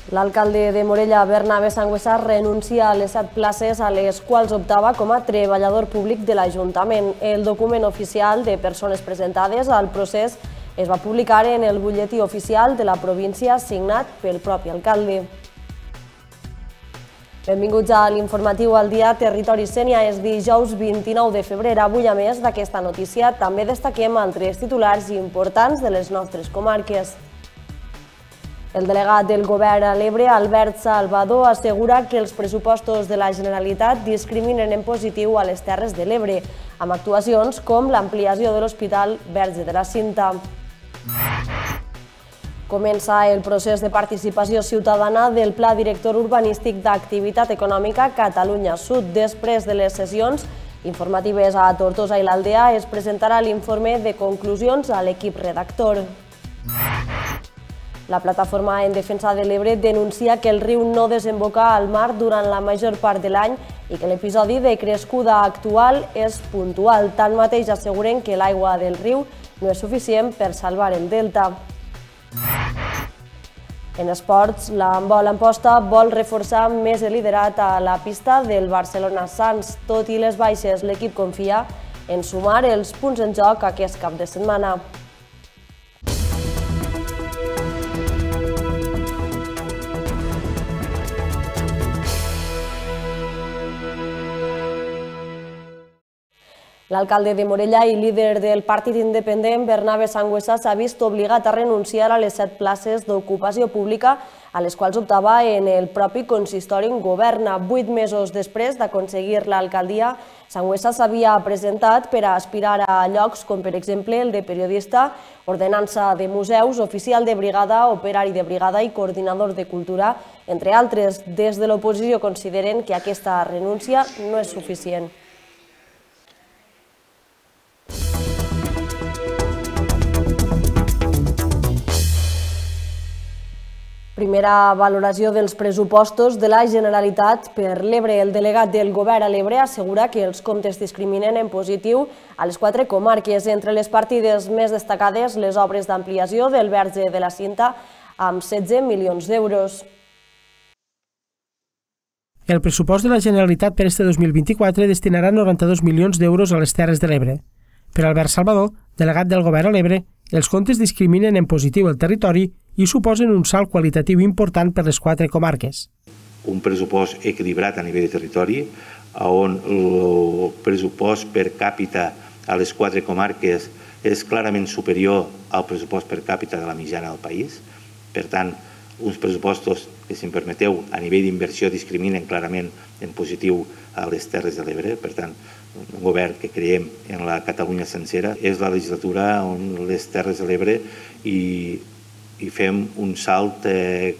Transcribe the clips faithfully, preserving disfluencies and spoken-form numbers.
L'alcalde de Morella, Bernabé Sangüesa, renuncia a les set places a les quals optava com a treballador públic de l'Ajuntament. El document oficial de persones presentades al procés es va publicar en el butlletí oficial de la província signat pel propi alcalde. Benvinguts a l'informatiu al dia Territori Sénia. És dijous vint-i-nou de febrer. Avui, a més d'aquesta notícia, també destaquem altres titulars importants de les nostres comarques. El delegat del Govern a l'Ebre, Albert Salvador, assegura que els pressupostos de la Generalitat discriminen en positiu a les Terres de l'Ebre, amb actuacions com l'ampliació de l'Hospital Verge de la Cinta. Comença el procés de participació ciutadana del Pla Director Urbanístic d'Activitat Econòmica Catalunya Sud. Després de les sessions informatives a Tortosa i l'Aldea, es presentarà l'informe de conclusions a l'equip redactor. La plataforma en defensa de l'Ebre denuncia que el riu no desemboca al mar durant la major part de l'any i que l'episodi de crescuda actual és puntual. Tanmateix asseguren que l'aigua del riu no és suficient per salvar el delta. En esports, l'handbol Amposta vol reforçar més el liderat a la pista del Barcelona Sants. Tot i les baixes, l'equip confia en sumar els punts en joc aquest cap de setmana. L'alcalde de Morella i líder del partit independent, Bernabé Sangüesa, s'ha vist obligat a renunciar a les set places d'ocupació pública a les quals optava en el propi consistori en govern. Vuit mesos després d'aconseguir l'alcaldia, Sangüesa s'havia presentat per a aspirar a llocs com, per exemple, el de periodista, ordenança de museus, oficial de brigada, operari de brigada i coordinador de cultura, entre altres. Des de l'oposició consideren que aquesta renúncia no és suficient. Primera valoració dels pressupostos de la Generalitat per l'Ebre. El delegat del Govern a l'Ebre assegura que els comptes discriminen en positiu a les quatre comarques. Entre les partides més destacades, les obres d'ampliació del Verge de la Cinta amb setze milions d'euros. El pressupost de la Generalitat per este dos mil vint-i-quatre destinarà noranta-dos milions d'euros a les Terres de l'Ebre. Per Albert Salvador, delegat del Govern a l'Ebre, els comptes discriminen en positiu el territori i suposen un salt qualitatiu important per les quatre comarques. Un pressupost equilibrat a nivell de territori, on el pressupost per càpita a les quatre comarques és clarament superior al pressupost per càpita de la mitjana del país. Per tant, uns pressupostos que, si em permeteu, a nivell d'inversió discriminen clarament en positiu a les Terres de l'Ebre. Per tant, un govern que creiem en la Catalunya sencera. És la legislatura on les Terres de l'Ebre i i fem un salt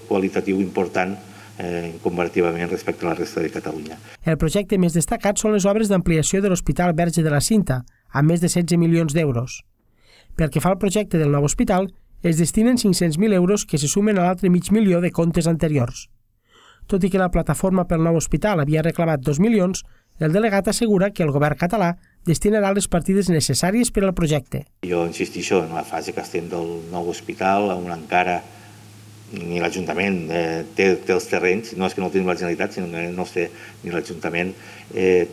qualitatiu important comparativament respecte a la resta de Catalunya. El projecte més destacat són les obres d'ampliació de l'Hospital Verge de la Cinta, amb més de setze milions d'euros. Pel que fa al projecte del nou hospital, es destinen cinc-cents mil euros que se sumen a l'altre mig milió de comptes anteriors. Tot i que la plataforma pel nou hospital havia reclamat dos milions, el delegat assegura que el govern català destinarà les partides necessàries per al projecte. Jo insistixo en la fase que estem del nou hospital, on encara ni l'Ajuntament té els terrenys, no és que no ho tenim la Generalitat, sinó que no els té ni l'Ajuntament.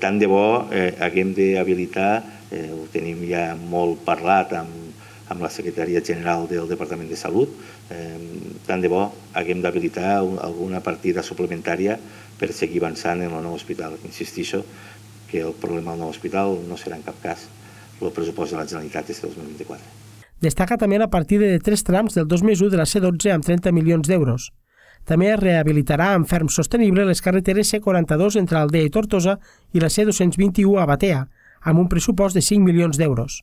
Tant de bo haguem d'habilitar, ho tenim ja molt parlat amb la Secretaria General del Departament de Salut, tant de bo haguem d'habilitar alguna partida suplementària per seguir avançant en el nou hospital. Insistixo que el problema del nou hospital no serà en cap cas el pressupost de la Generalitat des de dos mil vint-i-quatre. Destaca també la partida de tres trams del dos més u de la C dotze amb trenta milions d'euros. També es rehabilitarà amb ferm sostenible les carreteres C quaranta-dos entre Aldea i Tortosa i la C dos-cents vint-i-u a Batea, amb un pressupost de cinc milions d'euros.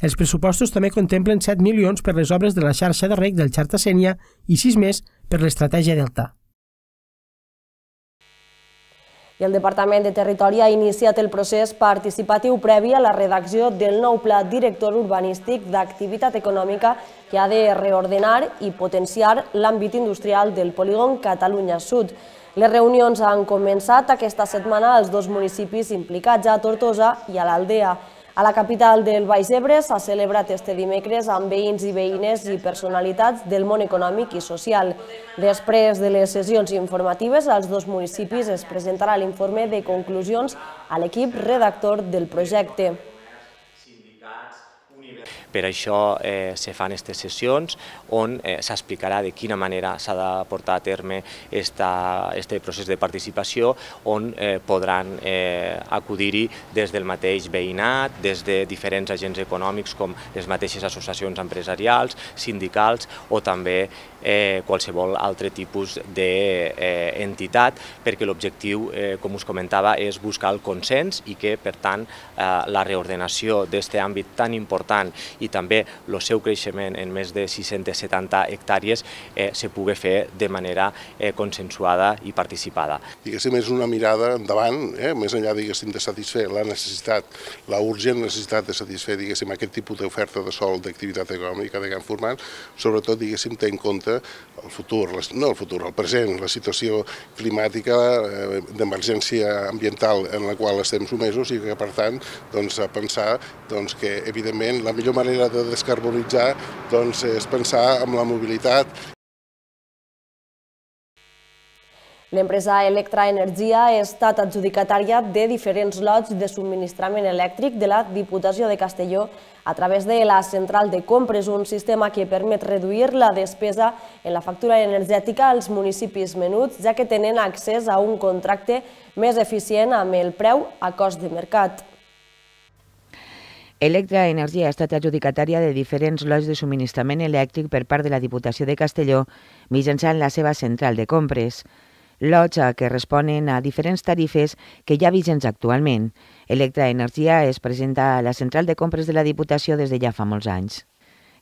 Els pressupostos també contemplen set milions per les obres de la xarxa de reg del Xarta Sénia i sis més per l'estratègia Delta. I el Departament de Territori ha iniciat el procés participatiu previ a la redacció del nou Pla Director Urbanístic d'Activitat Econòmica que ha de reordenar i potenciar l'àmbit industrial del polígon Catalunya Sud. Les reunions han començat aquesta setmana als dos municipis implicats, a Tortosa i a l'Aldea. A la capital del Baix Ebre s'ha celebrat este dimecres amb veïns i veïnes i personalitats del món econòmic i social. Després de les sessions informatives, als dos municipis es presentarà l'informe de conclusions a l'equip redactor del projecte. Per això eh, se fan aquestes sessions on eh, s'explicarà de quina manera s'ha de portar a terme aquest procés de participació, on eh, podran eh, acudir-hi des del mateix veïnat, des de diferents agents econòmics com les mateixes associacions empresarials, sindicals o també eh, qualsevol altre tipus d'entitat, eh, perquè l'objectiu, eh, com us comentava, és buscar el consens i que, per tant, eh, la reordenació d'aquest àmbit tan important i també el seu creixement en més de sis-centes setanta hectàrees eh, se pugui fer de manera eh, consensuada i participada. Diguéssim, és una mirada endavant, eh, més enllà, diguéssim, de satisfer la necessitat, la urgent necessitat de satisfer, diguéssim, aquest tipus d'oferta de sòl d'activitat econòmica de gran format, sobretot, diguéssim, té en compte el futur, no el futur, el present, la situació climàtica eh, d'emergència ambiental en la qual estem somesos i que, per tant, doncs, a pensar doncs, que, evidentment, la millor manera de descarbonitzar doncs, és pensar en la mobilitat. L'empresa Electra Energia ha estat adjudicatària de diferents lots de subministrament elèctric de la Diputació de Castelló a través de la central de compres, un sistema que permet reduir la despesa en la factura energètica als municipis menuts, ja que tenen accés a un contracte més eficient amb el preu a cost de mercat. Electra Energia ha estat adjudicatària de diferents lots de subministrament elèctric per part de la Diputació de Castelló mitjançant la seva central de compres. Lots que responen a diferents tarifes que hi ha vigents actualment. Electra Energia es presenta a la central de compres de la Diputació des de ja fa molts anys.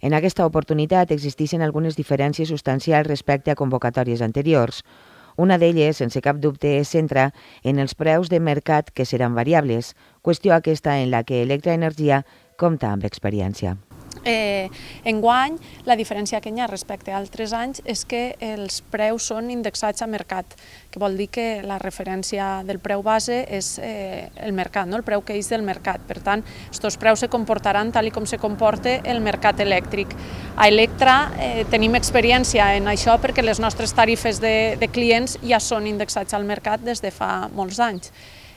En aquesta oportunitat existeixen algunes diferències substancials respecte a convocatòries anteriors. Una d'elles, sense cap dubte, es centra en els preus de mercat que seran variables, qüestió aquesta en la que Electra Energia compta amb experiència. Eh, enguany, la diferència que hi ha respecte a altres anys és que els preus són indexats a mercat, que vol dir que la referència del preu base és eh, el mercat, no? El preu que és del mercat. Per tant, aquests preus se comportaran tal com se comporta el mercat elèctric. A Electra eh, tenim experiència en això perquè les nostres tarifes de, de clients ja són indexats al mercat des de fa molts anys.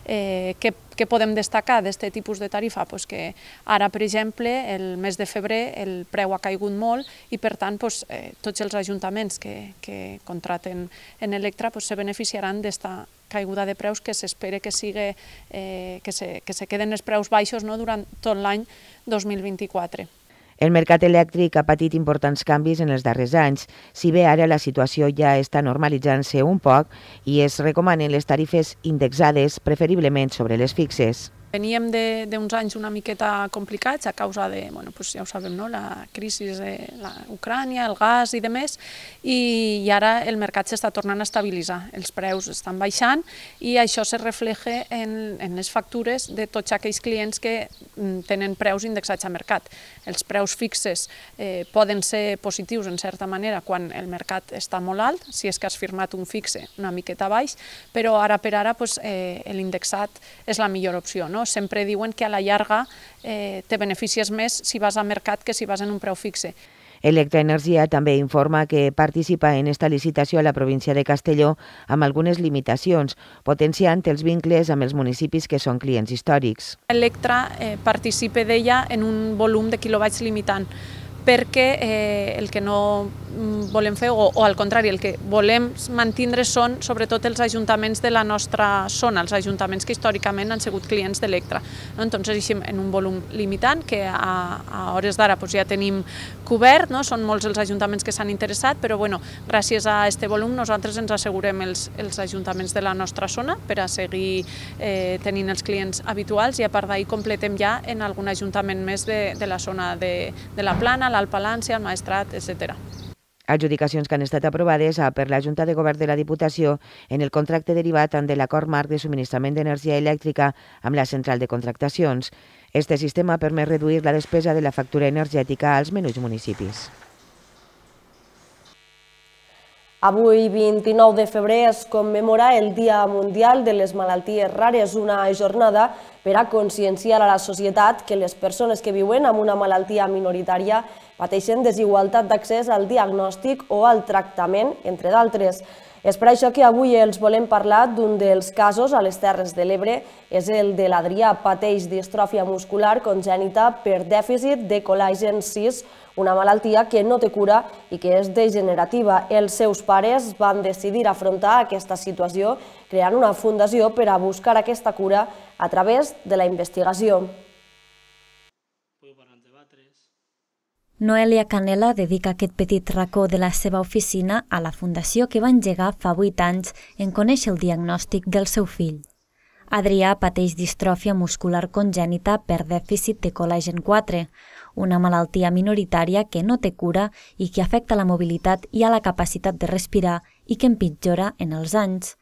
Eh, què, què podem destacar d'aquest tipus de tarifa? Pues que ara, per exemple, el mes de febrer el preu ha caigut molt i, per tant, pues, eh, tots els ajuntaments que, que contraten en Electra pues, se beneficiaran d'esta caiguda de preus que s'espera que, sigui, eh, que, se, que se queden els preus baixos, no?, durant tot l'any dos mil vint-i-quatre. El mercat elèctric ha patit importants canvis en els darrers anys, si bé ara la situació ja està normalitzant-se un poc i es recomanen les tarifes indexades preferiblement sobre les fixes. Veníem d'uns anys una miqueta complicats a causa de, bueno, pues ja ho sabem, no? La crisi de Ucrània, el gas i demés, i, i ara el mercat s'està tornant a estabilitzar, els preus estan baixant i això se refleja en, en les factures de tots aquells clients que tenen preus indexats a mercat. Els preus fixes eh, poden ser positius en certa manera quan el mercat està molt alt, si és que has firmat un fixe una miqueta baix, però ara per ara pues, eh, l'indexat és la millor opció, no? Sempre diuen que a la llarga eh, te beneficies més si vas a mercat que si vas en un preu fixe. Electra Energia també informa que participa en esta licitació a la província de Castelló amb algunes limitacions, potenciant els vincles amb els municipis que són clients històrics. Electra eh, participa d'ella en un volum de quilowatts limitant, perquè eh, el que no volem fer, o, o al contrari, el que volem mantindre són sobretot els ajuntaments de la nostra zona, els ajuntaments que històricament han sigut clients d'Electra. No? Entonces, així, en un volum limitant, que a, a hores d'ara pues, ja tenim cobert, no? Són molts els ajuntaments que s'han interessat, però bueno, gràcies a aquest volum nosaltres ens assegurem els, els ajuntaments de la nostra zona per a seguir eh, tenint els clients habituals i a part d'ahir completem ja en algun ajuntament més de, de la zona de, de la Plana, l'Alt Palància, el Maestrat, etcètera. Adjudicacions que han estat aprovades per la Junta de Govern de la Diputació en el contracte derivat de l'acord marc de subministrament d'energia elèctrica amb la central de contractacions. Este sistema permet reduir la despesa de la factura energètica als menuts municipis. Avui, vint-i-nou de febrer, es commemora el Dia Mundial de les Malalties Rares, una jornada per a conscienciar a la societat que les persones que viuen amb una malaltia minoritària pateixen desigualtat d'accés al diagnòstic o al tractament, entre d'altres. És per això que avui els volem parlar d'un dels casos a les Terres de l'Ebre, és el de l'Adrià, pateix distròfia muscular congènita per dèficit de col·lagen sis, una malaltia que no té cura i que és degenerativa. Els seus pares van decidir afrontar aquesta situació creant una fundació per a buscar aquesta cura a través de la investigació. Noelia Canela dedica aquest petit racó de la seva oficina a la fundació que va engegar fa vuit anys en conèixer el diagnòstic del seu fill. Adrià pateix distròfia muscular congènita per dèficit de col·lagen quatre, una malaltia minoritària que no té cura i que afecta la mobilitat i a la capacitat de respirar i que empitjora en els anys.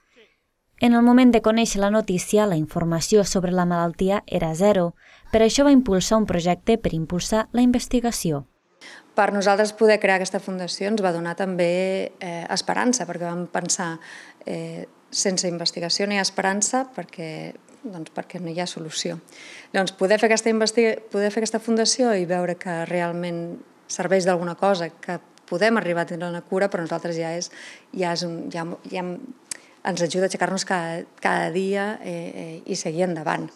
En el moment de conèixer la notícia, la informació sobre la malaltia era zero. Per això va impulsar un projecte per impulsar la investigació. Per nosaltres poder crear aquesta fundació ens va donar també eh, esperança, perquè vam pensar eh, sense investigació no hi ha esperança perquè, doncs perquè no hi ha solució. Llavors, poder fer, aquesta poder fer aquesta fundació i veure que realment serveix d'alguna cosa, que podem arribar a tenir una cura, però nosaltres ja, és, ja, és un, ja, ja ens ajuda a aixecar-nos cada, cada dia eh, eh, i seguir endavant.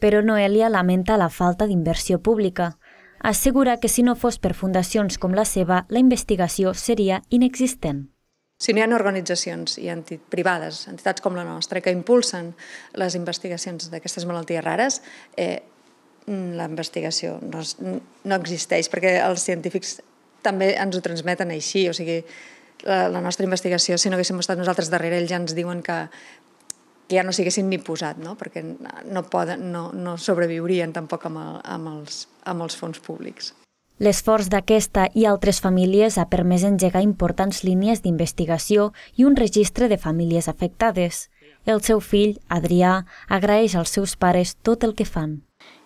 Però Noelia lamenta la falta d'inversió pública. Assegura que si no fos per fundacions com la seva, la investigació seria inexistent. Si no hi ha organitzacions i enti privades, entitats com la nostra, que impulsen les investigacions d'aquestes malalties rares, eh, la investigació no, no existeix, perquè els científics també ens ho transmeten així. O sigui, la, la nostra investigació, si no haguéssim estat nosaltres darrere, ells ja ens diuen que, que ja no s'haguessin ni posat, no? Perquè no, poden, no, no sobreviurien tampoc amb, el, amb, els, amb els fons públics. L'esforç d'aquesta i altres famílies ha permès engegar importants línies d'investigació i un registre de famílies afectades. El seu fill, Adrià, agraeix als seus pares tot el que fan.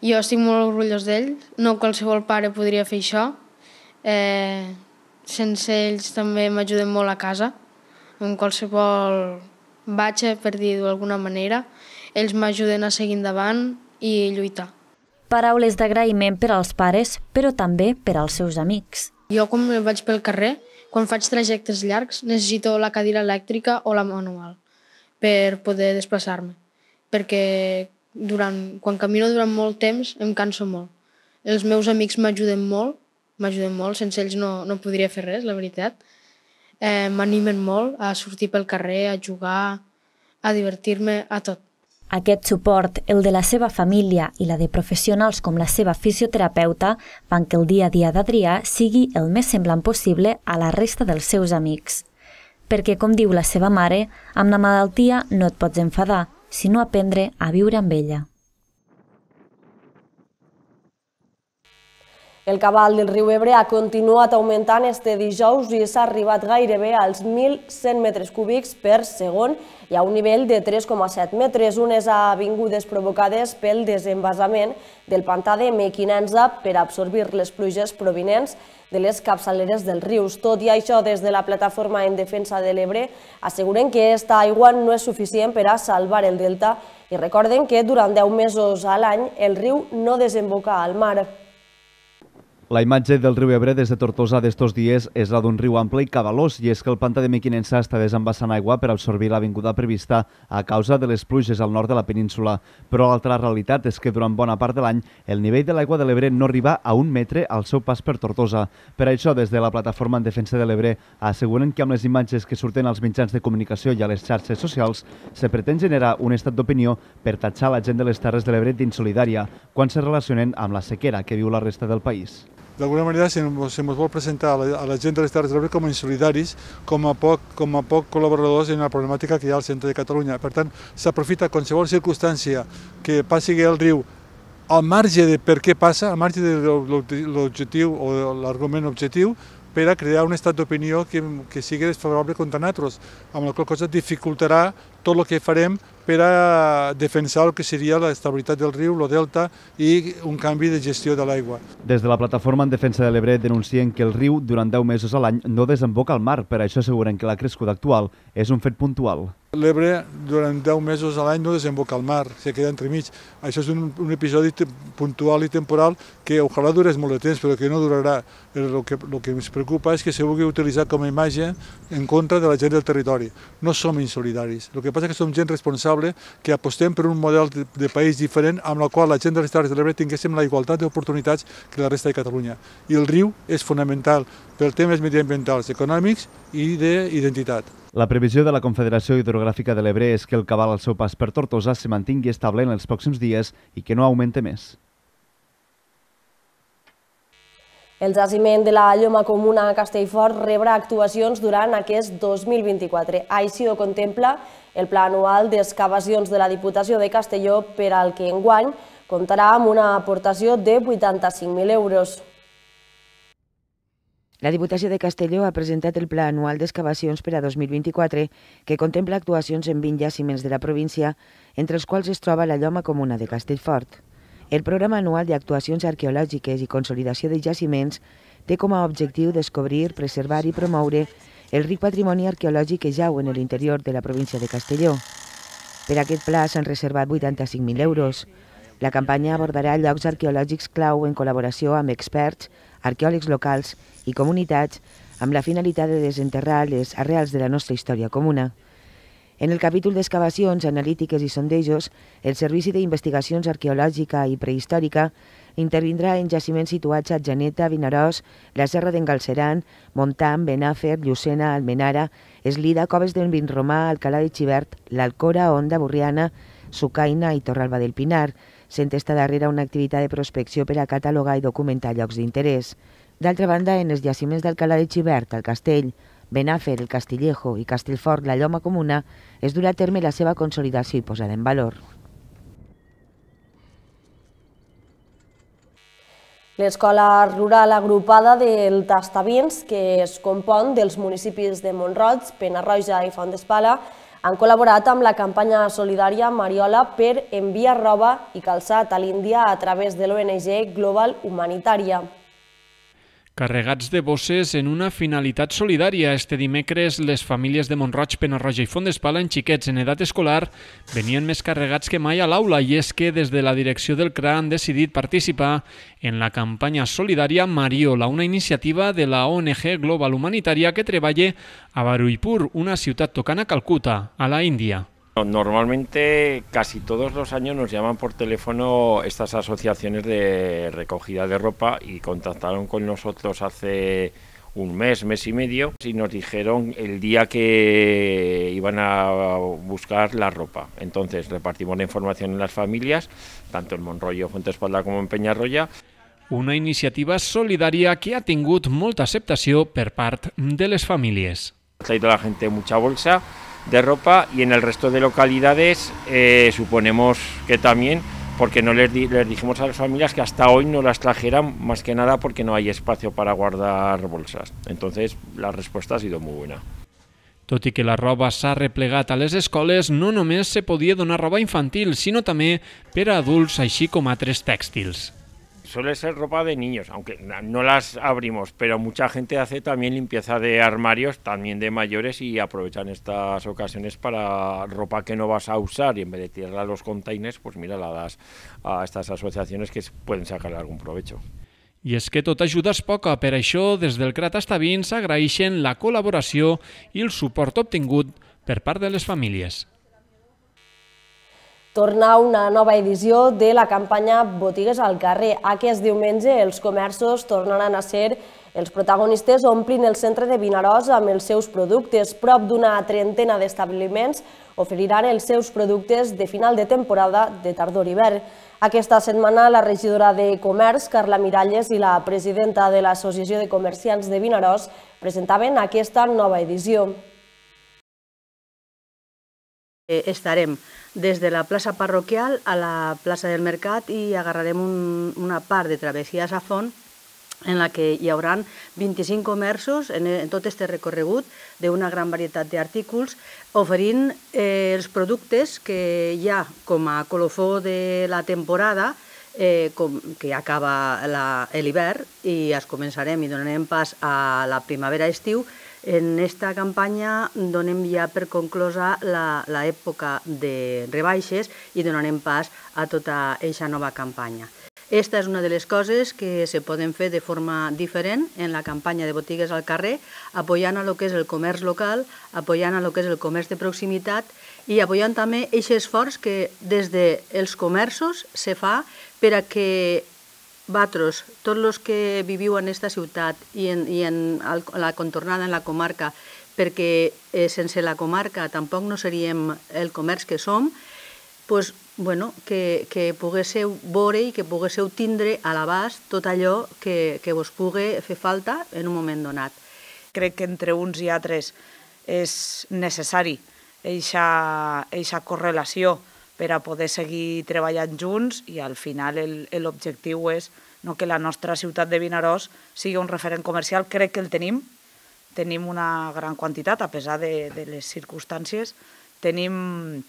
Jo estic molt orgullós d'ell, no qualsevol pare podria fer això. Eh, sense ells també m'ajuden molt a casa, en qualsevol batxa, per dir-ho d'alguna manera. Ells m'ajuden a seguir endavant i lluitar. Paraules d'agraïment per als pares, però també per als seus amics. Jo, quan vaig pel carrer, quan faig trajectes llargs, necessito la cadira elèctrica o la manual per poder desplaçar-me, perquè durant, quan camino durant molt temps em canso molt. Els meus amics m'ajuden molt, m'ajuden molt, sense ells no, no podria fer res, la veritat. Eh, m'animen molt a sortir pel carrer, a jugar, a divertir-me, a tot. Aquest suport, el de la seva família i la de professionals com la seva fisioterapeuta, fan que el dia a dia d'Adrià sigui el més semblant possible a la resta dels seus amics. Perquè, com diu la seva mare, amb la malaltia no et pots enfadar, sinó aprendre a viure amb ella. El cabal del riu Ebre ha continuat augmentant este dijous i s'ha arribat gairebé als mil cent metres cúbics per segon i a un nivell de tres coma set metres, unes avingudes provocades pel desenvasament del pantà de Mequinensa per absorbir les pluges provinents de les capçaleres dels rius. Tot i això, des de la Plataforma en Defensa de l'Ebre asseguren que aquesta aigua no és suficient per a salvar el delta i recorden que durant deu mesos a l'any el riu no desemboca al mar. La imatge del riu Ebre des de Tortosa d'estos dies és la d'un riu ample i cabalós, i és que el pantà de Mequinensa està desembassant aigua per absorbir l'avinguda prevista a causa de les pluges al nord de la península. Però l'altra realitat és que durant bona part de l'any el nivell de l'aigua de l'Ebre no arriba a un metre al seu pas per Tortosa. Per això, des de la Plataforma en Defensa de l'Ebre asseguren que amb les imatges que surten als mitjans de comunicació i a les xarxes socials se pretén generar un estat d'opinió per tatxar la gent de les Terres de l'Ebre d'insolidària quan se relacionen amb la sequera que viu la resta del país. D'alguna manera se ens vol presentar a la, a la gent de les Terres de l'Ebre com a insolidaris, com a, poc, com a poc col·laboradors en la problemàtica que hi ha al centre de Catalunya. Per tant, s'aprofita qualsevol circumstància que passi el riu al marge de per què passa, al marge de l'objectiu o l'argument objectiu, per a crear un estat d'opinió que, que sigui desfavorable contra nosaltres, amb la qual cosa dificultarà tot el que farem per a defensar el que seria l'estabilitat del riu, el delta i un canvi de gestió de l'aigua. Des de la plataforma en defensa de l'Ebre denuncien que el riu durant deu mesos a l'any no desemboca al mar, per això asseguren que la crescuda actual és un fet puntual. L'Ebre durant deu mesos a l'any no desemboca al mar, se queda entremig. Això és un, un episodi puntual i temporal que ojalà durés molt de temps, però que no durarà. El que, el que ens preocupa és que se vulgui utilitzar com a imatge en contra de la gent del territori. No som insolidaris. El que passa és que som gent responsable que apostem per un model de, de país diferent amb el qual la gent de les Terres de l'Ebre tinguéssim la igualtat d'oportunitats que la resta de Catalunya. I el riu és fonamental per temes mediambientals, econòmics i d'identitat. La previsió de la Confederació Hidrogràfica de l'Ebre és que el cabal al seu pas per Tortosa se mantingui estable en els pròxims dies i que no augmente més. El jaciment de la Lloma Comuna a Castellfort rebrà actuacions durant aquest dos mil vint-i-quatre. Així ho contempla el pla anual d'excavacions de la Diputació de Castelló, per al que enguany comptarà amb una aportació de vuitanta-cinc mil euros. La Diputació de Castelló ha presentat el Pla Anual d'Excavacions per a dos mil vint-i-quatre, que contempla actuacions en vint jaciments de la província, entre els quals es troba la Lloma Comuna de Castellfort. El Programa Anual d'Actuacions Arqueològiques i Consolidació de Jaciments té com a objectiu descobrir, preservar i promoure el ric patrimoni arqueològic que jau en l'interior de la província de Castelló. Per aquest pla s'han reservat vuitanta-cinc mil euros. La campanya abordarà llocs arqueològics clau en col·laboració amb experts, arqueòlegs locals i comunitats, amb la finalitat de desenterrar les arrels de la nostra història comuna. En el capítol d'excavacions, analítiques i sondejos, el Servici d'Investigacions Arqueològica i Prehistòrica intervindrà en jaciments situats a Atzeneta, Vinaròs, la Serra d'en Galceran, Montam, Benàfer, Llucena, Almenara, Eslida, Coves del Vinromà, Alcalà de Xivert, l'Alcora, Onda, Borriana, Sucaina i Torralba del Pinar, sent esta darrera una activitat de prospecció per a catalogar i documentar llocs d'interès. D'altra banda, en els jaciments d'Alcalà de Xivert, el Castell, Benàfer, el Castillejo i Castellfort, la Lloma Comuna, es durà a terme la seva consolidació i posada en valor. L'escola rural agrupada del Tastavins, que es compon dels municipis de Mont-roig, Penarroja i Font d'Espala, han col·laborat amb la campanya solidària Mariola per enviar roba i calçat a l'Índia a través de l'O N G Global Humanitària. Carregats de bosses en una finalitat solidària. Este dimecres les famílies de Mont-roig, Penarroja i Font d'Espala en xiquets en edat escolar venien més carregats que mai a l'aula, i és que des de la direcció del C R A han decidit participar en la campanya solidària Mariola, una iniciativa de la O N G Global Humanitària que treballa a Baruipur, una ciutat tocant a Calcuta, a la India. Normalmente casi todos los años nos llaman por teléfono estas asociaciones de recogida de ropa y contactaron con nosotros hace un mes, mes y medio y nos dijeron el día que iban a buscar la ropa. Entonces repartimos la información en las familias, tanto en Montroyo, Fuentesbala como en Peñarroya. Una iniciativa solidària que ha tingut molta acceptació per part de les famílies. Ha traído la gente mucha bolsa de ropa y en el resto de localidades eh, suponemos que también, porque no les, di les dijimos a las familias que hasta hoy no las trajeran, más que nada porque no hay espacio para guardar bolsas. Entonces la respuesta ha sido muy buena. Tot i que la roba s'ha replegat a les escoles, no només se podia donar roba infantil, sinó també per a adults, així com altres tèxtils. Suele ser ropa de niños, aunque no las abrimos, pero mucha gente hace también limpieza de armarios, también de mayores, y aprovechan estas ocasiones para ropa que no vas a usar y en vez de tirarla a los containers, pues mira, la das a estas asociaciones que pueden sacarle algún provecho. I és que tota ajuda és poca, per això des del C R A Tastavins agraeixen la col·laboració i el suport obtingut per part de les famílies. Torna una nova edició de la campanya Botigues al carrer. Aquest diumenge els comerços tornaran a ser els protagonistes, omplint el centre de Vinaròs amb els seus productes. Prop d'una trentena d'establiments oferiran els seus productes de final de temporada de tardor-hivern. Aquesta setmana la regidora de Comerç, Carla Miralles, i la presidenta de l'Associació de Comerciants de Vinaròs presentaven aquesta nova edició. Estarem des de la plaça parroquial a la plaça del Mercat i agarrarem un, una part de travessia a Sa Font en la que hi haurà vint-i-cinc comerços en tot aquest recorregut d'una gran varietat d'artículs, oferint els productes que hi ha com a colofó de la temporada, que ja acaba l'hivern i es començarem i donarem pas a la primavera-estiu. En aquesta campanya donem ja per conclosa l'època de rebaixes i donarem pas a tota aquesta nova campanya. Aquesta és una de les coses que se poden fer de forma diferent en la campanya de botigues al carrer, apoyant a lo que és el comerç local, apoyant a lo que és el comerç de proximitat i apoyant també aquest esforç que des dels comerços se fa per a que vosaltres, tots els que viviu en aquesta ciutat i en la contornada en la comarca, perquè sense la comarca tampoc no seríem el comerç que som, doncs, bueno, que poguéssiu veure i que poguéssiu tindre a l'abast tot allò que vos pugui fer falta en un moment donat. Crec que entre uns i altres és necessari aquesta correlació per a poder seguir treballant junts i al final l'objectiu és que la nostra ciutat de Vinaròs sigui un referent comercial. Crec que el tenim, tenim una gran quantitat a pesar de les circumstàncies, tenim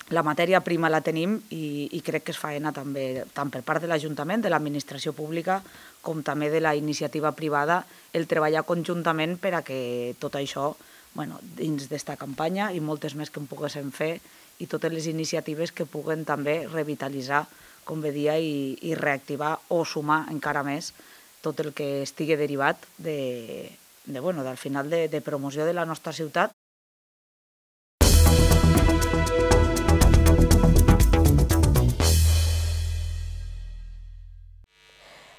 la matèria prima la tenim i crec que és faena també, tant per part de l'Ajuntament, de l'administració pública, com també de la iniciativa privada, el treballar conjuntament per a que tot això, dins d'esta campanya i moltes més que en poguéssim fer, i totes les iniciatives que puguen també revitalitzar, com bé dia, i reactivar o sumar encara més tot el que estigui derivat del final de promoció de la nostra ciutat.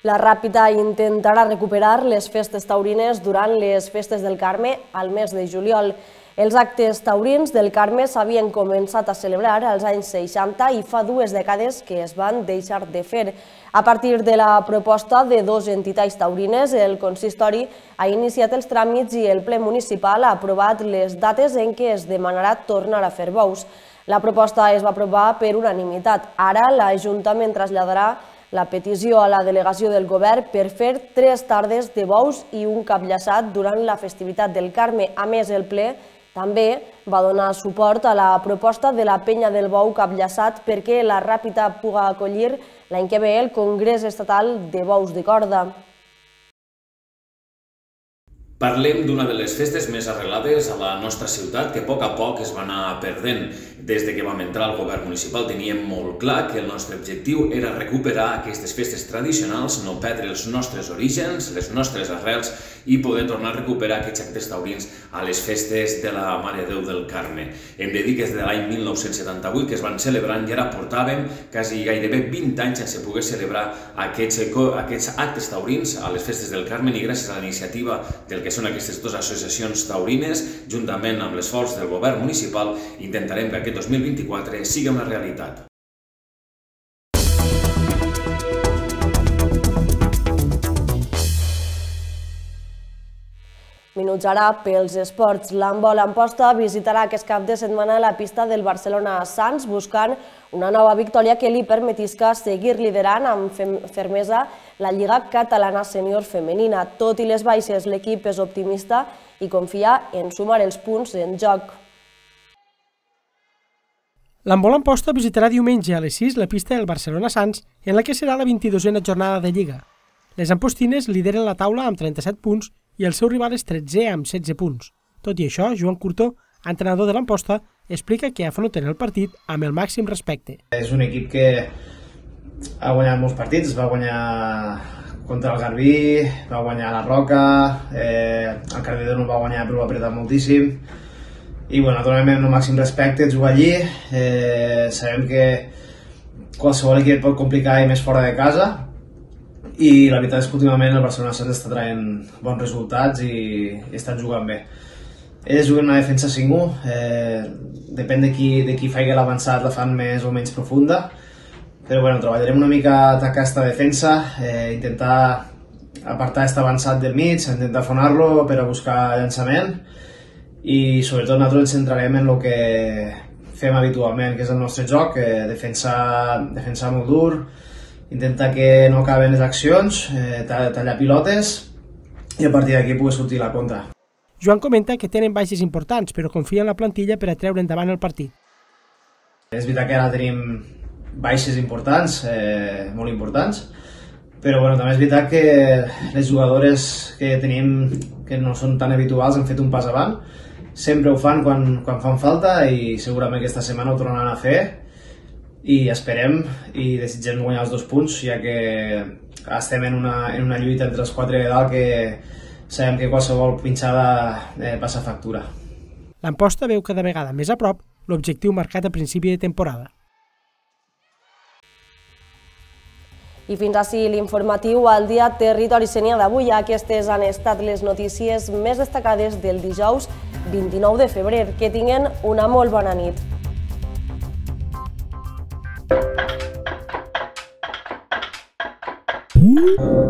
La Ràpita intentarà recuperar les festes taurines durant les festes del Carme al mes de juliol. Els actes taurins del Carme s'havien començat a celebrar als anys seixanta i fa dues dècades que es van deixar de fer. A partir de la proposta de dues entitats taurines, el consistori ha iniciat els tràmits i el ple municipal ha aprovat les dates en què es demanarà tornar a fer bous. La proposta es va aprovar per unanimitat. Ara l'Ajuntament traslladarà la petició a la delegació del govern per fer tres tardes de bous i un cap llaçat durant la festivitat del Carme. A més, el ple també va donar suport a la proposta de la Penya del Bou Cap Llaçat perquè la Ràpita pugui acollir l'any que ve el Congrés Estatal de Bous de Corda. Parlem d'una de les festes més arrelades a la nostra ciutat que a poc a poc es va anar perdent. Des que vam entrar al govern municipal teníem molt clar que el nostre objectiu era recuperar aquestes festes tradicionals, no perdre els nostres orígens, les nostres arrels i poder tornar a recuperar aquests actes taurins a les festes de la Mare de Déu del Carme. Hem de dir que és de l'any mil nou-cents setanta-vuit que es van celebrant i ara portàvem quasi gairebé vint anys sense poder celebrar aquests actes taurins a les festes del Carme i gràcies a la iniciativa del que són aquestes dues associacions taurines, juntament amb l'esforç del govern municipal, intentarem que aquest dos mil vint-i-quatre sigui una realitat. Minuts ara pels esports. L'handbol Amposta visitarà aquest cap de setmana la pista del Barcelona Sants buscant una nova victòria que li permetisca seguir liderant amb fermesa la Lliga Catalana Sènior Femenina. Tot i les baixes, l'equip és optimista i confia en sumar els punts en joc. L'handbol Amposta visitarà diumenge a les sis la pista del Barcelona Sants, en la que serà la vint-i-dosena jornada de Lliga. Les ampostines lideren la taula amb trenta-set punts i el seu rival és tretzè amb setze punts. Tot i això, Joan Curtó, entrenador de l'Amposta, explica que afronten el partit amb el màxim respecte. És un equip que ha guanyat molts partits, va guanyar contra el Garbí, va guanyar la Roca, el Cardedeu no va guanyar però va apretar moltíssim. I bueno, naturalment amb el màxim respecte jugar allí, sabem que qualsevol equip pot complicar i més fora de casa, i la veritat és que últimament el Barcelona Sants està traient bons resultats i estan jugant bé. Ells juguen una defensa cinc u, depèn de qui faci l'avançat la fan més o menys profunda, però bueno, treballarem una mica a atacar aquesta defensa, intentar apartar aquest avançat del mig, intentar afonar-lo per a buscar llançament i sobretot nosaltres ens centrarem en el que fem habitualment, que és el nostre joc, defensar molt dur, intenta que no acaben les accions, eh, tallar pilotes i a partir d'aquí pugui sortir la contra. Joan comenta que tenen baixes importants, però confia en la plantilla per a treure endavant el partit. És veritat que ara tenim baixes importants, eh, molt importants, però bueno, també és veritat que les jugadores que tenim, que no són tan habituals, han fet un pas avant. Sempre ho fan quan, quan fan falta i segurament aquesta setmana ho tornaran a fer i esperem i desitgem guanyar els dos punts, ja que estem en una, en una lluita entre els quatre de dalt que sabem que qualsevol pinxada eh, passa factura. L'Amposta veu cada vegada més a prop l'objectiu marcat a principi de temporada. I fins així l'informatiu al dia Territori Sénia d'avui. Aquestes han estat les notícies més destacades del dijous vint-i-nou de febrer. Que tinguen una molt bona nit. Mm-hmm.